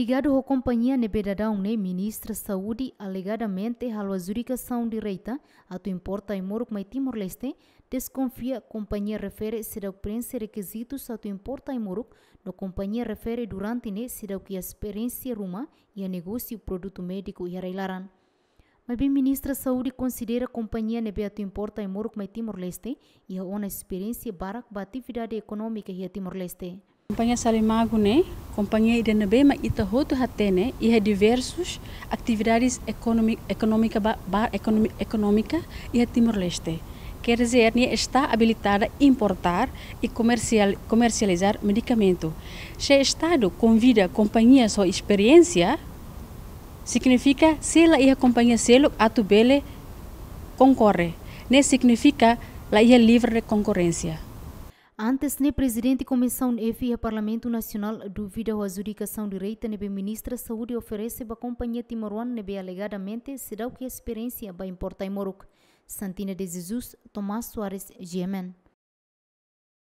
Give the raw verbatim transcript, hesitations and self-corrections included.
Ligadu ho kompañia ne'ebé daudaun ne'e, Ministra Saúde alegadamente halo adjudikasaun direta atu importa ai-moruk mai Timor-Leste, deskonfia kompañia refere seidauk prenxe rekizitus atu importa ai-moruk, no kompañia refere durante ne'e seidauk iha esperiénsia ruma iha negósiu produtu médiku iha rai-laran. Maibé Ministra Saúde konsidera kompañia ne'ebé atu importa ai-moruk mai Timor-Leste iha ona esperiénsia barak ba atividade ekonómika iha Timor-Leste. Kompañia Salimagu ne'e kompañia ida ne'ebé mak ita hotu hatene iha diversus atividades ekonomi-, ekonómika ba, ba ekonomi-, ekonómika iha Timor-Leste. Quer dizer, nia está abilitada importar e comercial-, comercializar medikamentu. Se Estadu konvida kompañia ho esperiénsia, signifika se la iha kompañia seluk atu bele konkorre. Ne'e signifika la iha livre de konkorrénsia. Antes ne'e, Prezidente Komisaun F iha Parlamentu Nasionál duvida ho adjudikasaun direta ne'ebé Ministra Saúde oferese ba kompañia timoroan ne'ebé alegadamente seidauk iha esperiénsia ba importa ai-moruk. Santina de Jesus, Tomás Soares, G M N.